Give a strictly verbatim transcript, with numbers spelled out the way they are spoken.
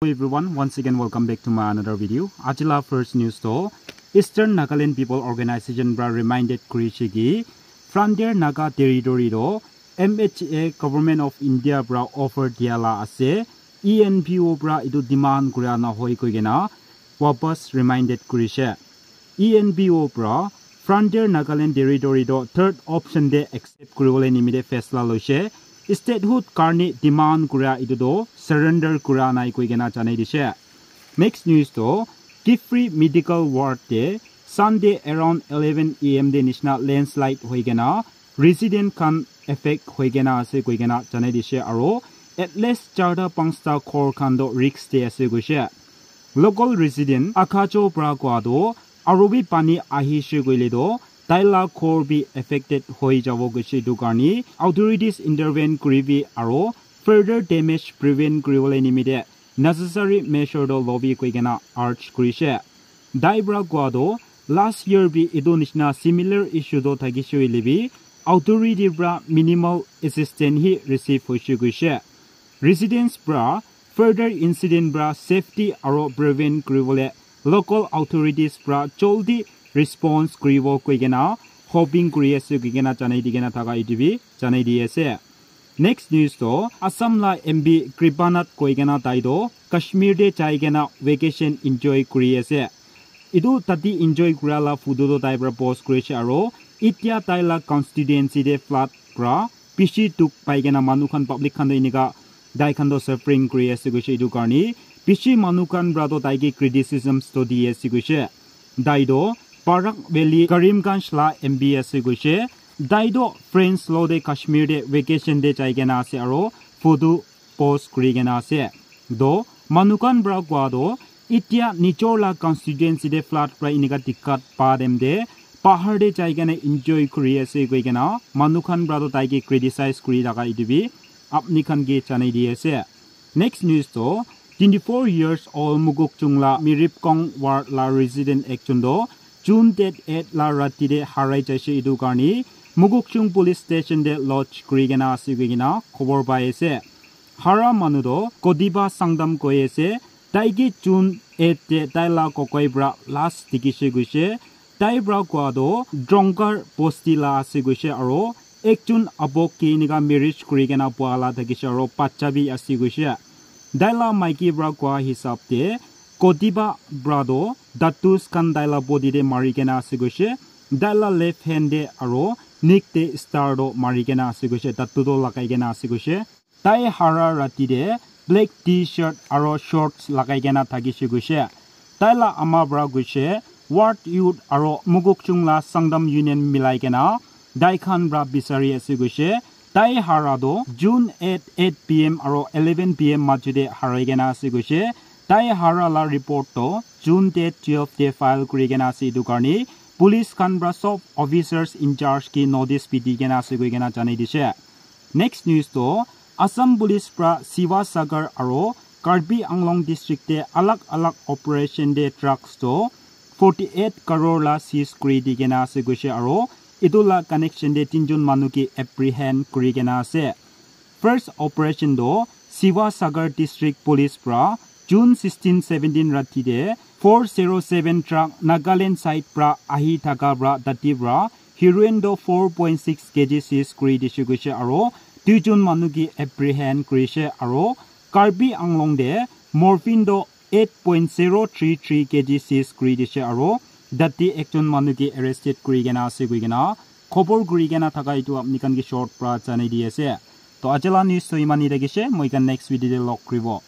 Hello everyone, once again welcome back to my another video. Ajila first news to Eastern Nagaland People Organization pra reminded kurishe ki Frontier Naga Territory to M H A Government of India pra offer diala ase, E N P O pra itu demand kura na hoi koi kena wapas reminded kurishe. E N P O pra Frontier Nagaland Territory to third option de accept kuribole nimite fesla loishe. Statehood karne demand kura itu to surrender kura nai koi kena janai dishe. Next news to Kiphire Medical Ward te Sunday around eleven A M de nishina landslide hoi kena resident khan affect hoi kena ase koi kena janai dishe aro at least charta panchta ghor khan to risk te ase koishe. Local resident Akacho pra koa to aro bi pani ahishe koile to taila ghor bi affected hoi jabo koishe, itu karne authorities intervene kuribi aro further damage prevent kuribole nimite necessary measure to lobi koi kena urge kurishe. Tai pra koa to last year bi itu nishina similar issue to thakishe hoile bi authority pra minimal assistance hi receive hoishe koishe. Residents pra further incident pra safety aro prevent kuribole local authorities pra joldi response kuribo koi kena hoping kuri ase koi kena janai di kena thaka itu bi janai di ase. Next news to Assam la M P Kripanath koi kena tai to Kashmir te jai kena vacation enjoy kuri ase. Itu tate enjoy kura la photo to tai pra post kurishe aro itia tai la constituency te flood pra bishi dukh pai kena manu khan public khan to enika tai khan to suffering kuri ase koishe, itu karne bishi manu khan pra to tai ke criticisms to di ase koishe. Tai to Barak Valley Karimganj la M P ase koishe. Tai to friends lo te Kashmir te vacation te jai kena ase aro photo post kuri kena ase. To manu khan pra koa to itia nijor la constituency te flood pra enika dikkat pa time te bahar te jai kena enjoy kuri ase koi kena manu khan pra to tai ke criticize kuri thaka itu bi apni khan ke janai di ase. Next news to twenty-four years old Mokokchung la Miripkong ward la resident ekjon to June date eight la rati te harai jaishe, itu karne Mokokchung police station te lodge kuri kena ase koi kena khobor pai ase. Hara manu to Kodiba Sangdam koi ase. Tai ke June eight te tai la kokoi pra last dikhishe koishe. Tai pra koa to Drongar bosti la ase koishe aro ekjon abok ke enika marriage kuri kena pua la thakishe aro bacha bi ase koishe. Tai la maiki pra koa hisab te Kodiba pra to tattoos khan tai la body te mari kena ase koishe. Tai la left hand te aro neck te star to mari kena ase koishe, tattoo to lagai kena ase koishe. Tai hara rati te black T-shirt aro shorts lagai kena thakishe koishe. Tai la ama pra koishe ward youth aro Mokokchung la Sangdam Union milai kena tai khan pra bisari ase koishe. Tai hara to June eight, eight P M aro eleven P M majo te harai kena ase koishe. Tai hara la report to June date twelve te file kuri kena ase, itu karne police khan pra sob officers in charge ke notice bi di kena ase koi kena janai dishe. Next news to Assam Police pra Sivasagar aro Karbi Anglong District te alag alag operation te drugs to forty-eight crore la seize kuri di kena ase koishe aro itu la connection te tinjon manu ke apprehend kuri kena ase. First operation to Sivasagar District Police pra June sixteen seventeen rati te four zero seven truck Nagaland side pra ahi thaka pra tate pra heroin to four point six K G seize kuri dishe koishe aro duijon manu ke apprehend kurishe aro Karbi Anglong te morphine to eight point zero three three K G seize kuri dishe aro tate ekjon manu ke arrested kuri kena ase koi kena khobor kuri kena thaka itu apni khan ke short pra janai di ase. To aji la news to iman hi thakishe, moi khan next video te log kuribo.